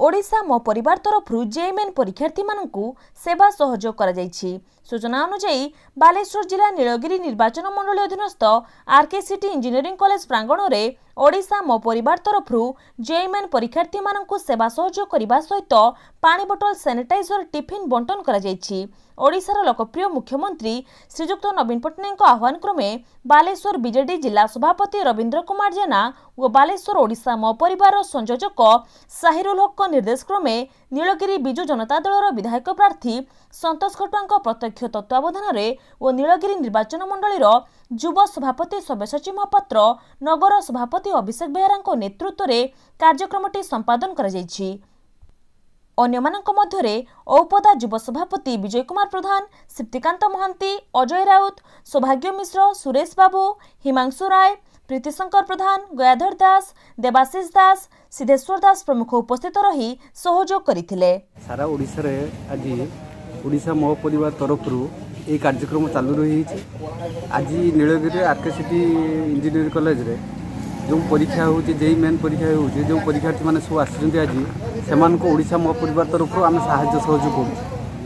ଓଡ଼ିଶା ମୋ ପରିବାର ତରଫରୁ ଜେଇଇ ମେନ୍ ପରୀକ୍ଷାର୍ଥୀମାନଙ୍କୁ ସେବା ସହଯୋଗ କରାଯାଇଛି। ସୂଚନା ଅନୁଯାୟୀ, ବାଲେଶ୍ୱର ଜିଲ୍ଲା ନୀଳଗିରି ନିର୍ବାଚନ ମଣ୍ଡଳୀ ଅଧୀନସ୍ଥ ଆର୍କେସିଟି ଇଞ୍ଜିନିୟରିଂ କଲେଜ ପ୍ରାଙ୍ଗଣରେ ଓଡ଼ିଶା ମୋ ପରିବାର ତରଫରୁ ଜେଇଇ ମେନ୍ ପରୀକ୍ଷାର୍ଥୀମାନଙ୍କୁ ସେବା ସହଯୋଗ କରିବା ସହିତ ପାଣି ବୋଟଲ, ସାନିଟାଇଜର, ଟିଫିନ୍ ବଣ୍ଟନ କରାଯାଇଛି। ଓଡ଼ିଶାର ଲୋକପ୍ରିୟ ମୁଖ୍ୟମନ୍ତ୍ରୀ ଶ୍ରୀଯୁକ୍ତ ନବୀନ ପଟ୍ଟନାୟକଙ୍କ ଆହ୍ୱାନ କ୍ରମେ ବାଲେଶ୍ୱର ବିଜେଡି ଜିଲ୍ଲା ସଭାପତି ରବୀନ୍ଦ୍ର କୁମାର ଜେନା ଓ ବାଲେଶ୍ୱର ଓଡ଼ିଶା ମୋ ପରିବାରର ସଂଯୋଜକ ସାହିରୁଲ ହକଙ୍କ ନିର୍ଦ୍ଦେଶ କ୍ରମେ ନୀଳଗିରି ବିଜୁ ଜନତା ଦଳର ବିଧାୟକ ପ୍ରାର୍ଥୀ ସନ୍ତୋଷ ଖଟୁଆଙ୍କ ପ୍ରତ୍ୟକ୍ଷ ତତ୍ତ୍ୱାବଧାନରେ ଓ ନୀଳଗିରି ନିର୍ବାଚନ ମଣ୍ଡଳୀର ଯୁବ ସଭାପତି ସବ୍ୟସାଚୀ ମହାପାତ୍ର, ନଗର ସଭାପତି ଅଭିଷେକ ବେହେରାଙ୍କ ନେତୃତ୍ୱରେ କାର୍ଯ୍ୟକ୍ରମଟି ସମ୍ପାଦନ କରାଯାଇଛି। ଅନ୍ୟମାନଙ୍କ ମଧ୍ୟରେ ଔପଦା ଯୁବ ସଭାପତି ବିଜୟ କୁମାର ପ୍ରଧାନ, ସିପ୍ତିକାନ୍ତ ମହାନ୍ତି, ଅଜୟ ରାଉତ, ସୌଭାଗ୍ୟ ମିଶ୍ର, ସୁରେଶ ବାବୁ, ହିମାଂଶୁ ରାୟ, ପ୍ରୀତିଶଙ୍କର ପ୍ରଧାନ, ଗୟାଧର ଦାସ, ଦେବାଶିଷ ଦାସ, ସିଦ୍ଧେଶ୍ୱର ଦାସ ପ୍ରମୁଖ ଉପସ୍ଥିତ ରହି ସହଯୋଗ କରିଥିଲେ। ସାରା ଓଡ଼ିଶାରେ ଆଜି ଓଡ଼ିଶା ମୋ ପରିବାର ତରଫରୁ ଏହି କାର୍ଯ୍ୟକ୍ରମ ଚାଲୁ ରହିଛି। ଆଜି ନୀଳଗିରିରେ ଆର୍ କେ ସିଟି ଇଞ୍ଜିନିୟରିଂ କଲେଜରେ ଯେଉଁ ପରୀକ୍ଷା ହେଉଛି, ଜେଇଇ ମେନ୍ ପରୀକ୍ଷା ହେଉଛି, ଯେଉଁ ପରୀକ୍ଷାର୍ଥୀମାନେ ସବୁ ଆସିଛନ୍ତି ଆଜି, ସେମାନଙ୍କୁ ଓଡ଼ିଶା ମୋ ପରିବାର ତରଫରୁ ଆମେ ସାହାଯ୍ୟ ସହଯୋଗ କରୁଛୁ।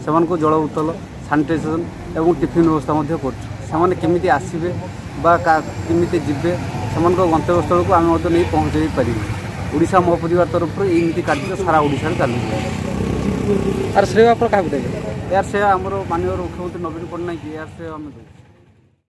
ସେମାନଙ୍କୁ ଜଳ ବୋତଲ, ସାନିଟାଇଜେସନ୍ ଏବଂ ଟିଫିନ୍ ବ୍ୟବସ୍ଥା ମଧ୍ୟ କରୁଛୁ। ସେମାନେ କେମିତି ଆସିବେ ବା କେମିତି ଯିବେ, ସେମାନଙ୍କ ଗନ୍ତବ୍ୟସ୍ଥଳକୁ ଆମେ ମଧ୍ୟ ନେଇ ପହଞ୍ଚାଇ ପାରିବୁ। ଓଡ଼ିଶା ମୋ ପରିବାର ତରଫରୁ ଏମିତି କାର୍ଯ୍ୟ ସାରା ଓଡ଼ିଶାରେ ଚାଲୁଛି। ଆର ଶ୍ରେୟ ଆପଣ କାହାକୁ ଦେବେ? ଏହାର ଶ୍ରେୟ ଆମର ମାନ୍ୟବର ମୁଖ୍ୟମନ୍ତ୍ରୀ ନବୀନ ପଟ୍ଟନାୟକ, ଏହାର ଶ୍ରେୟ ଆମେ ଦେବୁ।